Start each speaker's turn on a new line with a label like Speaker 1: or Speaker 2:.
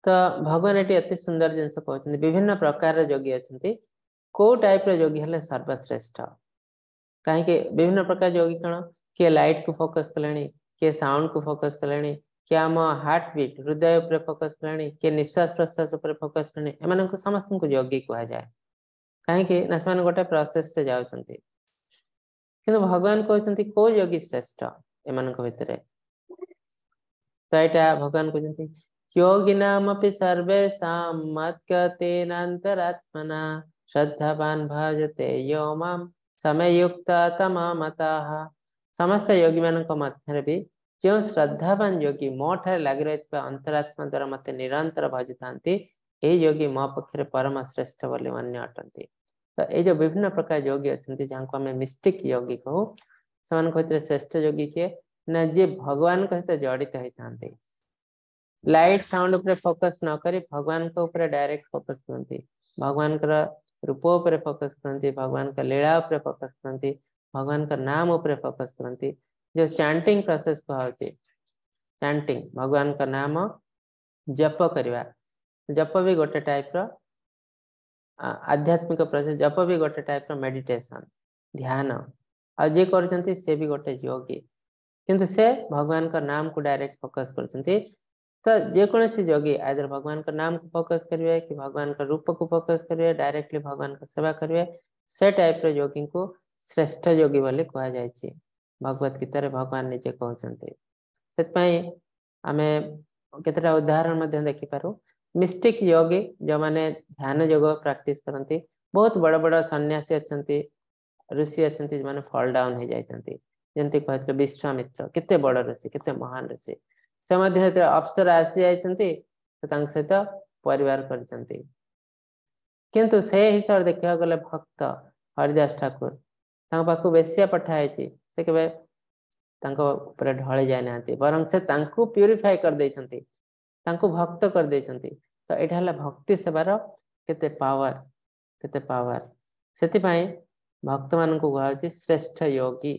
Speaker 1: ତ ଭଗବାନ ଏଠି ଅତି ସୁନ୍ଦର ଜିନିଷ କହୁଛନ୍ତି, ବିଭିନ୍ନ ପ୍ରକାରର ଯୋଗୀ ଅଛନ୍ତି, କୋଉ ଟାଇପର ଯୋଗୀ ହେଲେ ସର୍ବଶ୍ରେଷ୍ଠ। କାହିଁକି ବିଭିନ୍ନ ପ୍ରକାର ଯୋଗୀ କଣ? କିଏ ଲାଇଟ କୁ ଫୋକସ କଲେଣି, କିଏ ସାଉଣ୍ଡ କୁ ଫୋକସ କଲେଣି, କିଏ ଆମ ହାର୍ଟ ବିଟ୍ ହୃଦୟ ଉପରେ ଫୋକସ କଲେଣି, କିଏ ନିଶ୍ୱାସ ପ୍ରଶ୍ୱାସ ଉପରେ ଫୋକସ କଲେଣି। ଏମାନଙ୍କୁ ସମସ୍ତଙ୍କୁ ଯୋଗୀ କୁହାଯାଏ। କାହିଁକି ନା ସେମାନେ ଗୋଟେ ପ୍ରୋସେସରେ ଯାଉଛନ୍ତି। କିନ୍ତୁ ଭଗବାନ କହୁଛନ୍ତି କୋଉ ଯୋଗୀ ଶ୍ରେଷ୍ଠ ଏମାନଙ୍କ ଭିତରେ? ତ ଏଇଟା ଭଗବାନ କହୁଛନ୍ତି, ଯୋଗିନାମପି ସର୍ବେଷାଂ ମଦ୍ଗତେନାନ୍ତରାତ୍ମନା ଶ୍ରଦ୍ଧାବାନ ଭଜତେ ୟୋ ମାମ୍ ସମୟୁକ୍ତତମମତଃ। ସମସ୍ତ ଯୋଗୀ ମାନଙ୍କ ମଧ୍ୟରେ ବି ଯେଉଁ ଶ୍ରଦ୍ଧାବାନ ଯୋଗୀ ମୋ ଠାରେ ଲାଗି ରହିଥିବା ଅନ୍ତରାତ୍ମା ଦ୍ୱାରା ମତେ ନିରନ୍ତର ଭଜିଥାନ୍ତି, ଏହି ଯୋଗୀ ମୋ ପକ୍ଷରେ ପରମ ଶ୍ରେଷ୍ଠ ବୋଲି ମାନ୍ୟ ଅଟନ୍ତି। ତ ଏଇ ଯୋଉ ବିଭିନ୍ନ ପ୍ରକାର ଯୋଗୀ ଅଛନ୍ତି, ଯାହାକୁ ଆମେ ମିଷ୍ଟିକ ଯୋଗୀ କହୁ, ସେମାନଙ୍କ ଭିତରେ ଶ୍ରେଷ୍ଠ ଯୋଗୀ କିଏ ନା ଯିଏ ଭଗବାନଙ୍କ ସହିତ ଜଡିତ ହେଇଥାନ୍ତି। ଲାଇଟ ସାଉଣ୍ଡ ଉପରେ ଫୋକସ ନ କରି ଭଗବାନଙ୍କ ଉପରେ ଡାଇରେକ୍ଟ ଫୋକସ କରନ୍ତି, ଭଗବାନଙ୍କର ରୂପ ଉପରେ ଫୋକସ କରନ୍ତି, ଭଗବାନଙ୍କ ଲୀଳା ଉପରେ ଫୋକସ କରନ୍ତି, ଭଗବାନଙ୍କ ନାମ ଉପରେ ଫୋକସ କରନ୍ତି। ଯୋଉ ଚାଣ୍ଟିଂ ପ୍ରୋସେସ କୁହାହଉଛି, ଚାଣ୍ଟିଂ ଭଗବାନଙ୍କ ନାମ ଜପ କରିବା, ଜପ ବି ଗୋଟେ ଟାଇପର ଆଧ୍ୟାତ୍ମିକ ପ୍ରୋସେସ, ଜପ ବି ଗୋଟେ ଟାଇପର ମେଡିଟେସନ, ଧ୍ୟାନ। ଆଉ ଯିଏ କରୁଛନ୍ତି ସେ ବି ଗୋଟେ ଯୋଗୀ, କିନ୍ତୁ ସେ ଭଗବାନଙ୍କ ନାମକୁ ଡାଇରେକ୍ଟ ଫୋକସ କରୁଛନ୍ତି। ତ ଯେକୌଣସି ଯୋଗୀ ଆଇଦର ଭଗବାନଙ୍କ ନାମକୁ ଫୋକସ କରିବେ କି ଭଗବାନଙ୍କ ରୂପକୁ ଫୋକସ କରିବେ, ଡାଇରେକ୍ଟଲି ଭଗବାନଙ୍କ ସେବା କରିବେ, ସେ ଟାଇପର ଯୋଗୀଙ୍କୁ ଶ୍ରେଷ୍ଠ ଯୋଗୀ ବୋଲି କୁହାଯାଇଛି। ଭଗବତ ଗୀତାରେ ଭଗବାନ ନିଜେ କହୁଛନ୍ତି। ସେଥିପାଇଁ ଆମେ କେତେଟା ଉଦାହରଣ ମଧ୍ୟ ଦେଖିପାରୁ। ମିଷ୍ଟିକ ଯୋଗୀ ଯୋଉମାନେ ଧ୍ୟାନ ଯୋଗ ପ୍ରାକ୍ଟିସ କରନ୍ତି, ବହୁତ ବଡ ବଡ ସନ୍ନ୍ୟାସୀ ଅଛନ୍ତି, ଋଷି ଅଛନ୍ତି, ଯୋଉମାନେ ଫଲ ଡାଉନ ହେଇଯାଇଛନ୍ତି। ଯେମିତି କହିଥିଲେ ବିଶ୍ୱାମିତ୍ର, କେତେ ବଡ ଋଷି, କେତେ ମହାନ ଋଷି, ସେ ମଧ୍ୟ ଯେତେବେଳେ ଅପ୍ସରା ଆସି ଯାଇଛନ୍ତି ତ ତାଙ୍କ ସହିତ ପରିବାର କରିଛନ୍ତି। କିନ୍ତୁ ସେ ହିସାବରେ ଦେଖିବାକୁ ଗଲେ ଭକ୍ତ ହରିଦାସ ଠାକୁର, ତାଙ୍କ ପାଖକୁ ବେଶ୍ୟା ପଠା ହେଇଛି, ସେ କେବେ ତାଙ୍କ ଉପରେ ଢଳି ଯାଇନାହାନ୍ତି, ବରଂ ସେ ତାଙ୍କୁ ପ୍ୟୁରିଫାଏ କରିଦେଇଛନ୍ତି, ତାଙ୍କୁ ଭକ୍ତ କରିଦେଇଛନ୍ତି। ତ ଏଇଟା ହେଲା ଭକ୍ତି ସେବାର କେତେ ପାୱାର, କେତେ ପାୱାର। ସେଥିପାଇଁ ଭକ୍ତମାନଙ୍କୁ କୁହାଯାଉଛି ଶ୍ରେଷ୍ଠ ଯୋଗୀ।